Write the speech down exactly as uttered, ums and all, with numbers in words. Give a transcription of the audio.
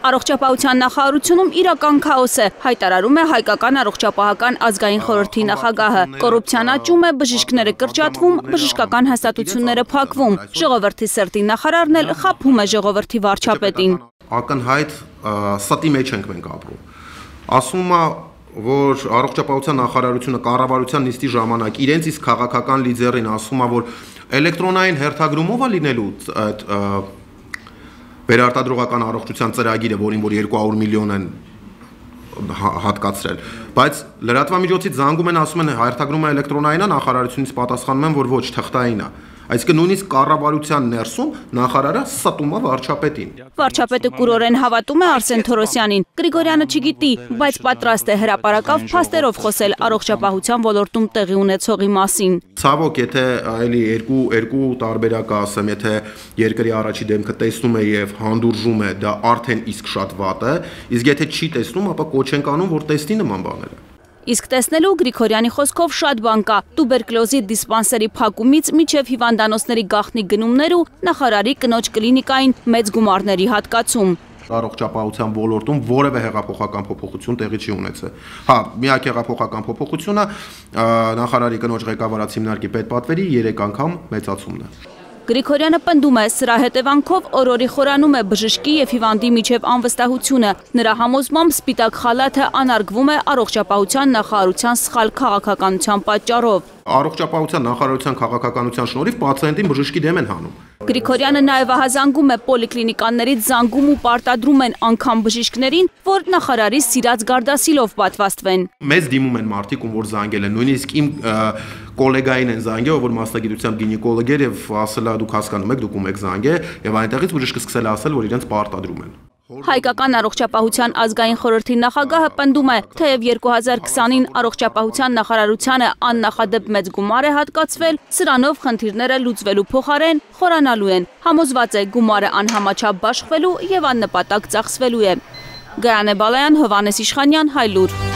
Առողջապահության նախարարությունում իրական քաոս է, հայտարարում է Հայկական առողջապահական ազգային խորհրդի նախագահը։ Կոռուպցիան աճում է, բժիշկները կրճատվում, բժշկական հաստատությունները փակվում։ Ժողովրդի սրտի նախարարն էլ խաբում է ժողովրդի վարչապետին։ Ակնհայտ ստի մեջ ենք մենք ապրում։ Ասում է, որ առողջապահության նախարարությունը կառավարության նիստի ժամանակ իրենց իսկ քաղաքական լիդերին ասում է, որ էլեկտրոնային հերթագրումով է լինելու այդ վերարտադրողական առողջության ծրագիրը, որին որ երկու հարյուր միլիոն են հատկացրել, բայց լրատվամիջոցից զանգում են, ասում են հերթագրումը էլեկտրոնային է, նախարարությունից պատասխանում են, որ ոչ, թղթային է։ Այսինքն նույնիսկ կառավարության ներսում նախարարը ստում է վարչապետին։ Վարչապետը կուրորեն հավատում է Արսեն Թորոսյանին։ Գրիգորյանը չգիտի, բայց պատրաստ է հրապարակավ փաստերով խոսել առողջապահության ոլորտում տեղի ունեցողի մասին։ Ցավոք, եթե այլի երկու երկու տարբերակ ասեմ, եթե երկրի առաջի դեմքը տեսնում է եւ հանդուրժում է, դա արդեն իսկ շատ վատ է, իսկ եթե չի տեսնում, ապա կոչ են անում, որ տեսնի նման բաները։ Իսկ տեսնելու Գրիգորյանի խոսքով շատ բան կա՝ տուբերկլոզի դիսպանսերի փակումից մինչև հիվանդանոցների գաղտնի գնումներ ու նախարարի կնոջ կլինիկային մեծ գումարների հատկացում։ Առողջապահության ոլորտում որևէ հեղափոխական փոփոխություն տեղի չի ունեցել։ Հա, միակ հեղափոխական փոփոխությունը նախարարի կնոջ ղեկավարած հիմնարկի պետպատվերի երեք անգամ մեծացումն է։ Գրիգորյանը պնդում է, սրա հետևանքով օրորի խորանում է բժշկի և հիվանդի միջև անվստահությունը։ Նրա համոզմամբ սպիտակ խալաթը անարգվում է առողջապահության նախարարության սխալ քաղաքականության պատճառով։ Առողջապահության նախարարության քաղաքականության շնորհիվ պացիենտին բժշկի դեմ են հանում։ Գրիգորյանը նաև ահազանգում է պոլիկլինիկաներից զանգում ու պարտադրում են անգամ բժիշկներին, որ նախարարի սիրած գարդասիլով պատվաստվեն։ Մեզ դիմում են մարդիկ, ում որ զանգել են, նույնիսկ իմ կոլեգային են զանգել, որ մասնագիտությամբ գինեկոլոգ էր եւ ասել է դուք հասկանում եք, դուք ում եք զանգել, եւ այնտեղից բժիշկը սկսել է ասել, որ իրենց պարտադրում են։ Հայկական առողջապահության ազգային խորհրդի նախագահը պնդում է, թեև երկու հազար քսանին առողջապահության նախարարությանը աննախադեպ մեծ գումար է հատկացվել, սրանով խնդիրները լուծվելու փոխարեն խորանալու են։ Համոզված է, գումարը անհամաչափ բաշխվելու եւ աննպատակ ծախսվելու է։ Գայանե Բալայան, Հովհաննես Իշխանյան, Հայլուր։